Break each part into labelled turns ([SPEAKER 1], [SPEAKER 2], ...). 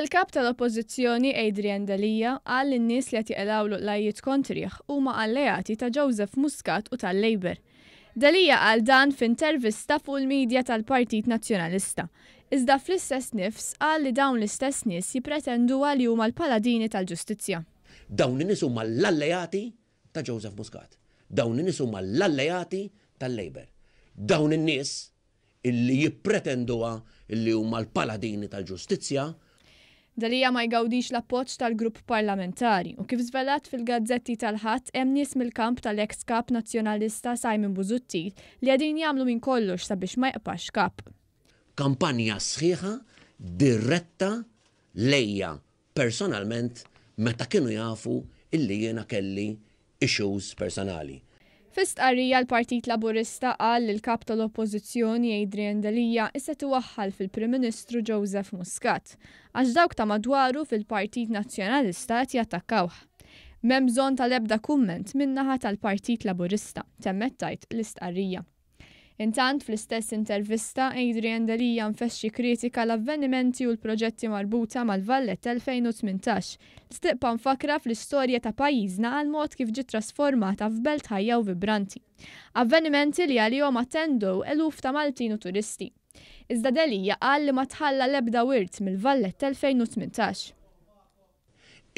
[SPEAKER 1] Il-Kap tal-Oppożizzjoni Adrian Delia qal li n-nies li qed jeqilgħulu qlajjiet kontrih huma alleati ta' Joseph Muscat u tal-Labour. Delia qal dan f'intervista fuq il-media tal-Partit Nazzjonalista. Iżda fl-istess nifs qal li dawn l-istess nies jippretenduha li huma l-paladini tal-ġustizzja.
[SPEAKER 2] Dawn in-nies huma l-alleati ta' Joseph Muscat. Dawn in-nies huma l-alleati tal-Labour. Dawn in-nies illi jippretenduha illi huma l-paladini tal-ġustizzja.
[SPEAKER 1] Delia ma jgawdix l-appoġġ tal-grupp parlamentari u kif żvelat fil-gazzetti tal-Ħadd hemm nies mill-kamp tal-eks Kap Nazzjonalista Simon Busuttil li qegħdin jagħmlu minn kollox sabiex ma jqpax kap.
[SPEAKER 2] Kampanja sħiħa diretta lejja personalment meta kienu jafu illi jiena kelli issues personali.
[SPEAKER 1] Fi stqarrija l-Partit Laburista qal li l-Kap tal-Oppożizzjoni Adrian Delia issa iwaħħal fil-Prim Ministru Joseph Muscat għax dawk ta' madwaru fil-Partit Nazzjonalista qed jattakkawh. M'hemm bżonn tal-ebda kumment min-naħa tal-Partit Laburista, temmet tgħid l-istqarrija. Intant, fl-istess intervista, Adrian Delia nfexxi kritika l-avvenimenti u l-proġetti marbuta mal-Valletta 2018, li tibqa' mfakkra fl-istorja ta' pajjiżna għal mod kif ġiet trasformata f'belt ħajja u vibranti. Avvenimenti li għalihom attendew eluf ta' Maltin u turisti. Iżda Delia qal li ma tħalla l-ebda wirt mill-Valletta 2018.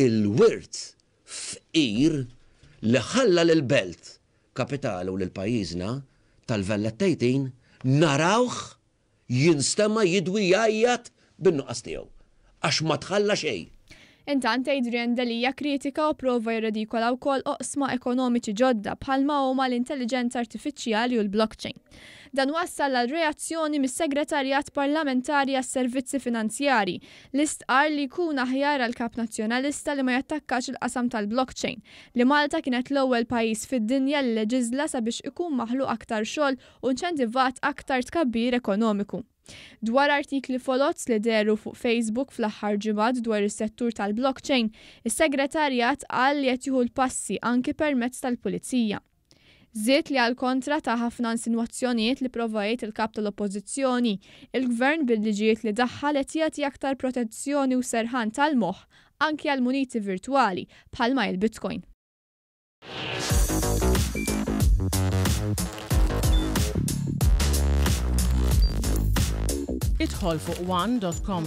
[SPEAKER 2] Il-wirt fqir li ħalla lill-belt kapitali u lil pajjiżna tal-Valletta 18 narawh jinstema' jidwi jgħajjat bin-nuqqas tiegħu. Għax ma tħalla xejn.
[SPEAKER 1] Intant Adrian Delia kritika u prova jirredikola wkoll oqsma ekonomiċi ġodda bħalma huma l-intelliġenza artifiċjali u l-blockchain. Dan wassal għal reazzjoni mis-Segretarjat Parlamentari għas-Servizzi Finanzjari li stqarr li jkun aħjar għal Kap Nazzjonalista li ma jattakkax il-qasam tal-blockchain, li Malta kienet l-ewwel pajjiż fid-dinja li leġiżla sabiex ikun maħluq aktar xogħol u inċentivat aktar tkabbir ekonomiku. Dwar artikli foloz li dehru fuq Facebook fl-aħħar ġimgħat dwar is-settur tal-blockchain, is-Segretarjat qal li qed jieħu l-passi anki permezz tal-Pulizija. Żied li għal kontra ta' ħafna insinwazzjonijiet li prova jgħid il-Kap tal-Oppożizzjoni, il-Gvern bil-liġijiet li daħħal qed jagħti aktar protezzjoni u serħan tal-moħħ anki għal muniti virtwali bħalma hi l-Bitcoin.
[SPEAKER 3] Idħol fuq one.com.